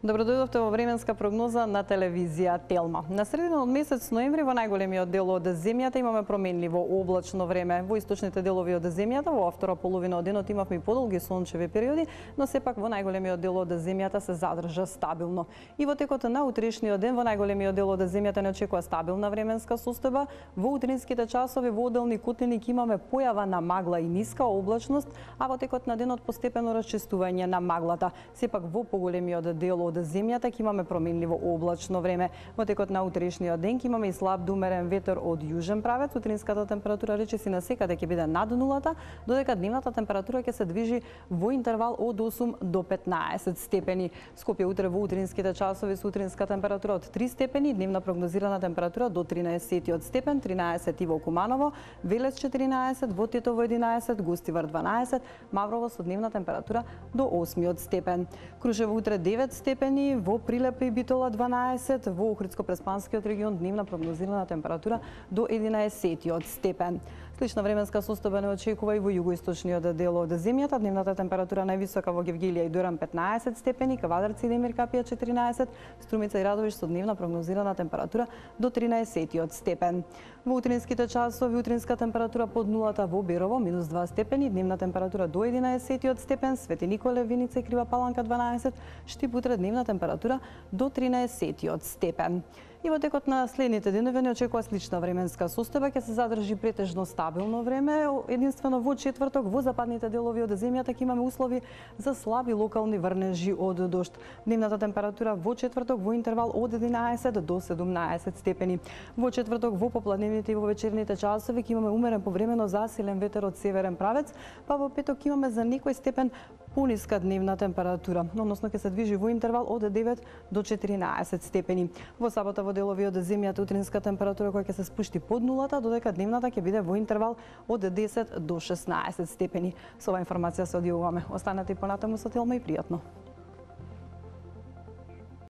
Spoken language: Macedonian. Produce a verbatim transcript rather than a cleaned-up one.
Добродојдовте во временска прогноза на телевизија Телма. На средина од месец ноември во најголемиот дел од земјата имаме променливо облачно време. Во источните делови од земјата во втора половина од денот имавме подолги сончеви периоди, но сепак во најголемиот дел од земјата се задржа стабилно. И во текот на утрешниот ден во најголемиот дел од земјата не очекува стабилна временска состојба. Во утринските часови во одделни кутлини ќе имаме појава на магла и ниска облачност, а во текот на денот постепено расчистување на маглата. Сепак во поголемиот дел од земјата ќе имаме променливо облачно време. Во текот на утрешниот ден ќе имаме и слаб до умерен ветер од јужен правец. Утринската температура речиси на секаде ќе биде над нулата, додека дневната температура ќе се движи во интервал од осум до петнаесет степени. Скопје утре во утринските часови со утринска температура од три степени, дневна прогнозирана температура до тринаесет степен, тринаесет и во Куманово, Велес четиринаесет, во Тетово единаесет, Гостивар дванаесет, Маврово со дневна температура до осми степен. Крушево утре девет степени, во Прилепе и Битола дванаесет, во Охридско-Преспанскиот регион дневна прогнозирана температура до единаесет степен. Слична временска состојба не очекува и во југоисточниот дел од земјата. Дневната температура највисока во Гевгелија и Доран петнаесет степени, Кавадарци и Демир Капија четиринаесет, Струмица и Радовиш со дневна прогнозирана температура до тринаесет степен. Во утринските часови утринска температура под нулата во Берово минус два степени, дневна температура до единаесет степен, Свети Николе, Виница и Крива Паланка дванаесет, Штип утре дневна температура до тринаесет степен. И во текот на следните денови не очекува слична временска состојба, ќе се задржи претежно стабилно време, единствено во четврток во западните делови од земјата ќе имаме услови за слаби локални врнежи од дожд. Дневната температура во четврток во интервал од единаесет до седумнаесет степени. Во четврток во попладневните и во вечерните часови ќе имаме умерен повремено засилен ветер од северен правец, па во петок имаме за некој степен пониска дневна температура, односно ќе се движи во интервал од девет до четиринаесет степени. Во сабота во делови од земјата утринска температура која ќе се спушти под нулата, додека дневната ќе биде во интервал од десет до шеснаесет степени. Со оваа информација се одјавуваме. Останете и понатаму со Телма и пријатно.